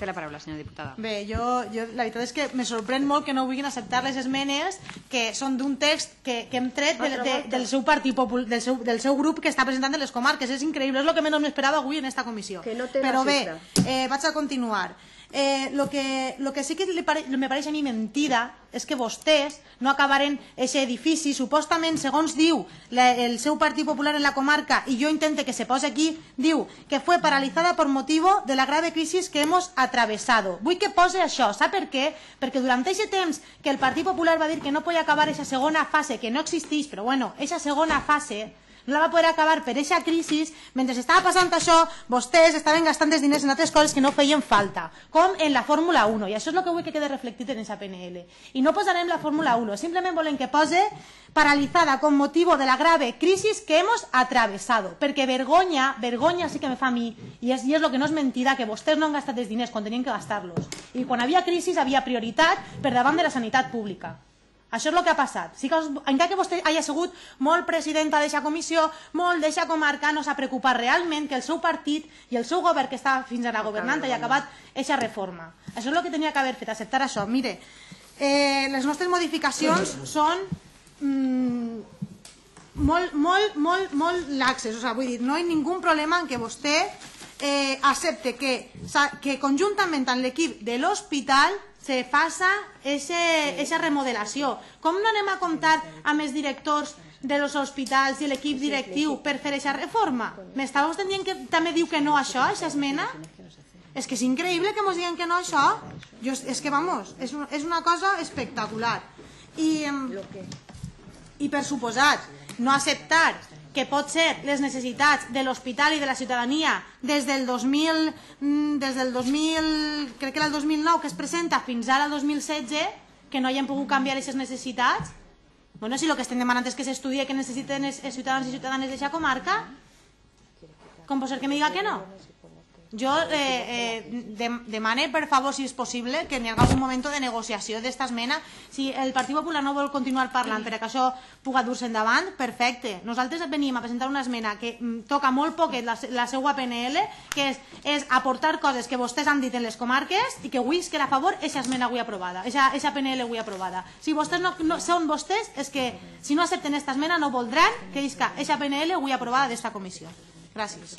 Té la paraula, senyora diputada. Bé, la veritat és que me sorprèn molt que no vulguin acceptar les esmenes que són d'un text que hem tret del seu partit del seu grup que està presentant de les comarques. És increïble, és el que menys m'esperava avui en esta comissió. Però bé, vaig a continuar. Lo que sí que me pareix a mi mentida és que vostès no acabaren aquest edifici. Supostament, segons diu el seu Partit Popular en la comarca, i jo intente que se pose aquí, diu que fue paralizada por motivo de la grave crisis que hemos atravesado. Vull que pose això. Sap per què? Perquè durant aquest temps que el Partit Popular va dir que no podia acabar aquesta segona fase, que no existeix, però bueno, aquesta segona fase no la va poder acabar per aquesta crisi. Mentre estava passant això, vostès estaven gastant els diners en altres coses que no feien falta, com en la Fórmula 1, i això és el que vull que quede reflectit en aquesta PNL. I no posarem la Fórmula 1, simplement volem que pose paralizada con motivo de la grave crisis que hemos atravesado, perquè vergonya sí que me fa a mi, i és el que no és mentida, que vostès no han gastat els diners quan tenien que gastar-los, i quan havia crisi havia prioritat per davant de la sanitat pública. Això és el que ha passat. Encara que vostè hagi sigut molt presidenta d'aquesta comissió, molt d'aquesta comarca, no s'ha preocupat realment que el seu partit i el seu govern que estava fins ara governant hagi acabat aquesta reforma. Això és el que tenia que haver fet, acceptar això. Mire, les nostres modificacions són molt laxes. Vull dir, no hi ha ningú problema en que vostè accepte que conjuntament amb l'equip de l'hospital se faça aquesta remodelació. Com no anem a comptar amb els directors dels hospitals i l'equip directiu per fer aquesta reforma? M'està vostè dient que també diu que no a això, a aquesta esmena? És que és increïble que ens diguen que no a això. És que, vamos, és una cosa espectacular. I per suposat, no acceptar que pot ser les necessitats de l'hospital i de la ciutadania des del 2000, crec que era el 2009 que es presenta fins ara el 2016, que no hagin pogut canviar aquestes necessitats. Bueno, si el que estem demanant és que s'estudie què necessiten els ciutadans i ciutadanes d'aquesta comarca, com pot ser que me diga que no? Jo demane, per favor, si és possible, que n'hi hagi algun moment de negociació d'esta esmena. Si el Partit Popular no vol continuar parlant per que això pugui dur-se endavant, perfecte. Nosaltres venim a presentar una esmena que toca molt poquet la seva PNL, que és aportar coses que vostès han dit en les comarques i que vull que a favor aquesta esmena avui aprovada, aquesta PNL avui aprovada. Si vostès no són vostès, és que si no accepten aquesta esmena no voldran que aquesta PNL avui aprovada d'esta comissió. Gràcies.